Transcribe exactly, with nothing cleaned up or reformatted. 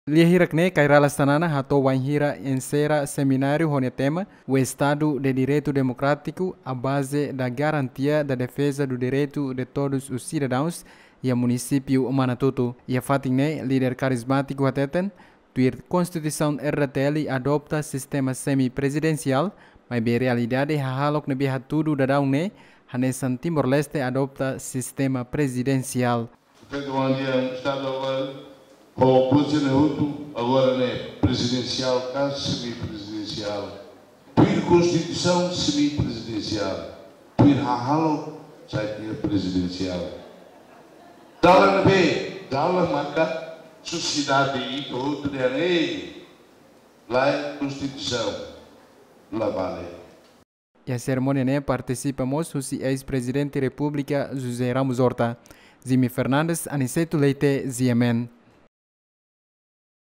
Lia hirak ne'e, Kay Rala Xanana hato'o wainhira enserra semináriu ho nia tema O Estado de Direito Democrático, a base da garantia da defesa do direito de todos os cidadãos, iha munisípiu Manatuto. Iha fatin ne'e, líder karizmátiku hateten, tuir Konstituisaun R D T L adopta sistema semipresidensiál, maibé realidade hahalok ne'ebé hatudu daudaun ne'e, hanesan Timor-Leste adopta sistema presidensiál. Portantu, ohin dia Estadu agora, ho posisi ne'e hotu, agora ne'e presidensiál ka semipresidensiál. Tuir Konstituisaun semipresidensiál. Tuir hahalok sai tiha presidensiál. Dalan ne'ebé, dalan maka sosiedade ita hotu dehan ei, la'ós Konstituisaun, la vale. Iha serimónia ne'e partisipa mós husi eis-Prezidente Repúblika José Ramos Horta. Jimmy Fernandes, Aniceto Leite, G M N.